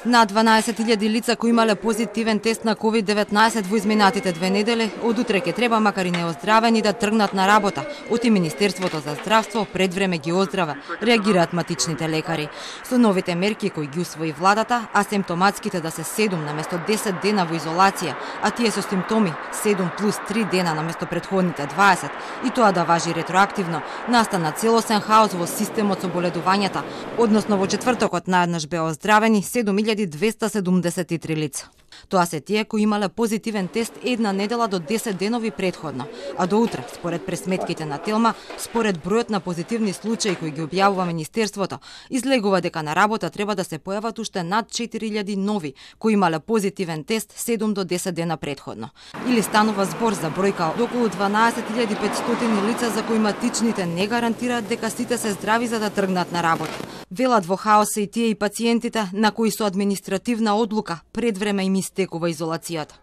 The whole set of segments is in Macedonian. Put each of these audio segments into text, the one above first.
На 12.000 лица кои имале позитивен тест на COVID-19 во изминатите 2 недели, од утре ќе треба, макар и неоздравени, да тргнат на работа. Оти Министерството за здравство пред време ги оздраве, реагираат матичните лекари. Со новите мерки кои ги усвои владата, асимптоматските да се 7 наместо 10 дена во изолација, а тие со симптоми 7 плюс 3 дена наместо предходните 20, и тоа да важи ретроактивно, настана целосен хаос во системот со боледувањата, односно во четвртокот наеднаш беа оздравени 7273 лица. Тоа се тие кои имале позитивен тест една недела до 10 денови предходно, а до утре, според пресметките на Телма, според бројот на позитивни случаи кои ги објавува Министерството, излегува дека на работа треба да се појават уште над 4000 нови кои имале позитивен тест 7 до 10 дена предходно. Или станува збор за бројка од околу 12500 лица за кои матичните не гарантираат дека сите се здрави за да тргнат на работа. Велат во хаос се и тие и пациентите на кои со административна одлука пред време им истекува изолацијата.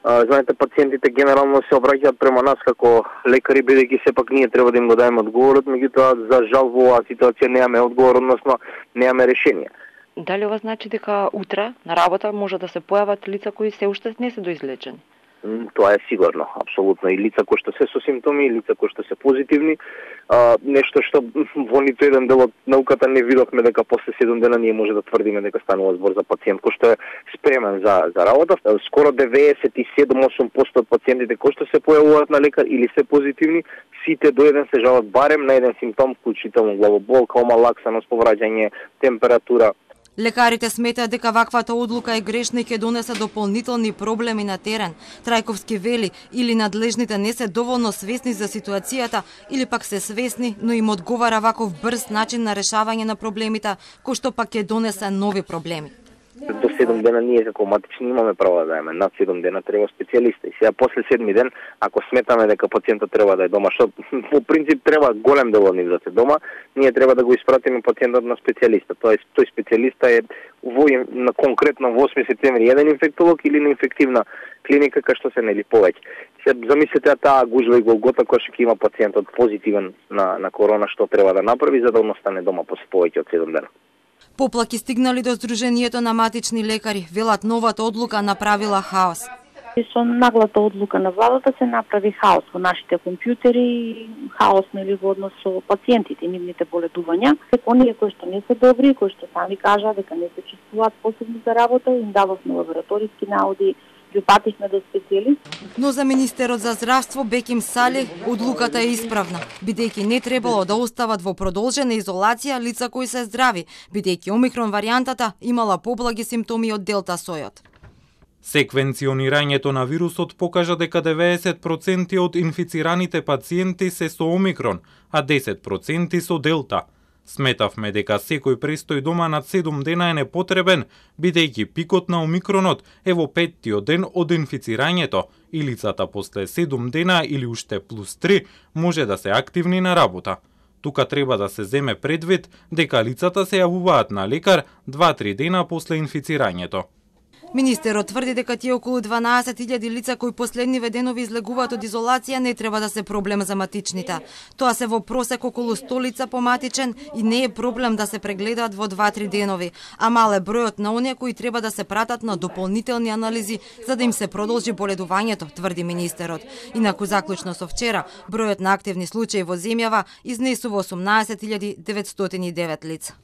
Знаете, пациентите генерално се обраќаат према нас како лекари, бидејќи сепак ние треба да им го дадеме одговорот, меѓутоа за жал во оваа ситуација немаме одговор, односно немаме решение. Дали ова значи дека утре на работа може да се појават лица кои се уште не се доизлечени? Тоа е сигурно, апсолутно. И лица кои што се со симптоми, и лица кои што се позитивни. Нешто што во ниту еден дел од науката не видовме дека после 7 дена ние може да тврдиме дека станува збор за пациент кој што е спремен за работа. Скоро 97-8% од пациентите кои што се појавуваат на лекар или се позитивни, сите до еден се жалат барем на еден симптом, вклучително главобол, кома, лаксаност, повраќање, температура. Лекарите сметаат дека ваквата одлука е грешна и ќе донесе дополнителни проблеми на терен. Трајковски вели, или надлежните не се доволно свесни за ситуацијата, или пак се свесни, но им одговара ваков брз начин на решавање на проблемите, кој што пак ќе донесе нови проблеми. До 7 дена ние како матични имаме право да даеме, над 7 дена треба специјалиста. И сега после 7 ден, ако сметаме дека пациентот треба да е дома, што по принцип треба голем дел од нив да се дома, ние треба да го испратиме пациентот на специјалиста. Тој специјалиста е на конкретно во 8 септември еден инфектолог или на инфективна клиника кај што се нели повеќе. Се замислете таа гужва и голгота која што ќе има пациентот позитивен на корона, што треба да направи за да остане дома после повеќе од 7 дена. Поплаки стигнали до Сдруженијето на матични лекари, велат новата одлука направила хаос. Со наглата одлука на владата се направи хаос во нашите компјутери, хаос нели во однос со пациентите и нивните боледувања. Оние кои што не се добри, кои што сами кажа дека не се чувствуваат способни за работа, им дававме лабораториски наоди, ги упатихме до специјалист. Но за министерот за здравство Беким Сали одлуката е исправна, бидејќи не требало да остават во продолжена изолација лица кои се здрави, бидејќи омикрон варијантата имала поблаги симптоми од делта сојот. Секвенционирањето на вирусот покажа дека 90% од инфицираните пациенти се со омикрон, а 10% со делта. Сметавме дека секој престој дома над 7 дена е непотребен, бидејќи пикот на омикронот е во 5-тиот ден од инфицирањето и лицата после 7 дена или уште плюс 3 може да се активни на работа. Тука треба да се земе предвид дека лицата се јавуваат на лекар 2-3 дена после инфицирањето. Министерот тврди дека тие околу 12.000 лица кои последниве денови излегуваат од изолација не треба да се проблем за матичните. Тоа се во просек околу 100 лица по матичен и не е проблем да се прегледаат во 2-3 денови, а мал е бројот на оние кои треба да се пратат на дополнителни анализи за да им се продолжи боледувањето, тврди министерот. Инаку заклучно со вчера, бројот на активни случаи во земјава изнесува 18.909 лица.